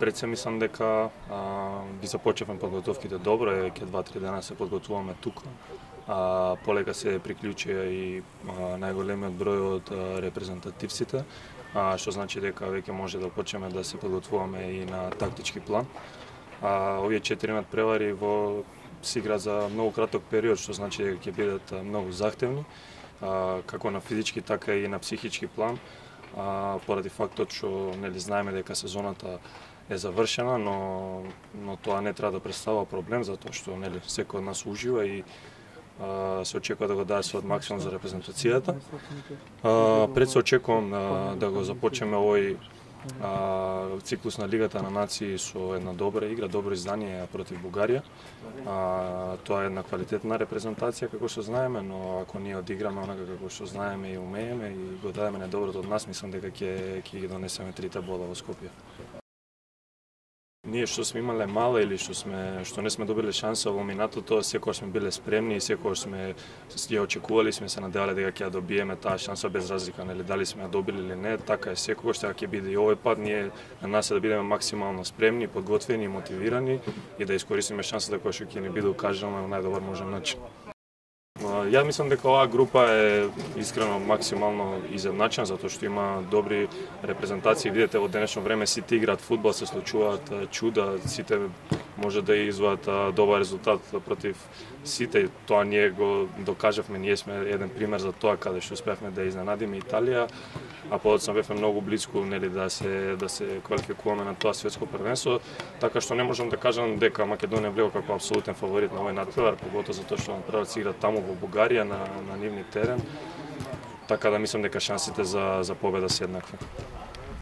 Пред се мислам дека ги започнавме подготовките добро, ќе 2-3 дена се подготвуваме тука. Полека се приклучија и најголемиот број од репрезентативците, што значи дека веќе може да почнеме да се подготвуваме и на тактички план. Овие 4 надпревари се играат за многу краток период, што значи дека ќе бидат многу захтевни, како на физички така и на психички план. Поради фактот што знаеме дека сезоната е завршена, но тоа не треба да представува проблем, затоа што секој од нас ужива и се очекува да го даде својот максимум за репрезентацијата. Пред се очекувам да го започнеме овој циклус на Лигата на нации со една добра игра, добро издание против Бугарија. Тоа е една квалитетна репрезентација како што знаеме, но ако ние одиграме онака како што знаеме и умееме и го дадеме најдоброто од нас, мислам дека ќе ги донесеме 3 бола во Скопје. Ние што сме имале мала или што не сме добиле шанса во минатото, секогаш сме биле спремни и секогаш сме ја очекували, сме се надевале дека ќе ја добиеме таа шанса без разлика, дали сме ја добили или не, така е секогаш, така ќе биде и овој пат. Ние на нас е да бидеме максимално спремни, подготвени и мотивирани и да искористиме шансата која што ќе ни биде укажана на најдобар можен начин. Ја мислам дека оваа група е искрено максимално изедначена, затоа што има добри репрезентации. Видете, во денешно време сите играат фудбал, се случуваат чуда, сите може да извадат добар резултат против сите. Тоа ние го докажавме, ние сме еден пример за тоа каде што успеавме да изненадиме Италија, а подоцна бевме многу близко да се квалификуваме на тоа светско првенство, така што не можам да кажам дека Македонија влегува како апсолутен фаворит на овој надпревар, поготоа затоа што надпревар се игра таму во Бугарија на нивни терен, така да мислам дека шансите за победа се еднакви.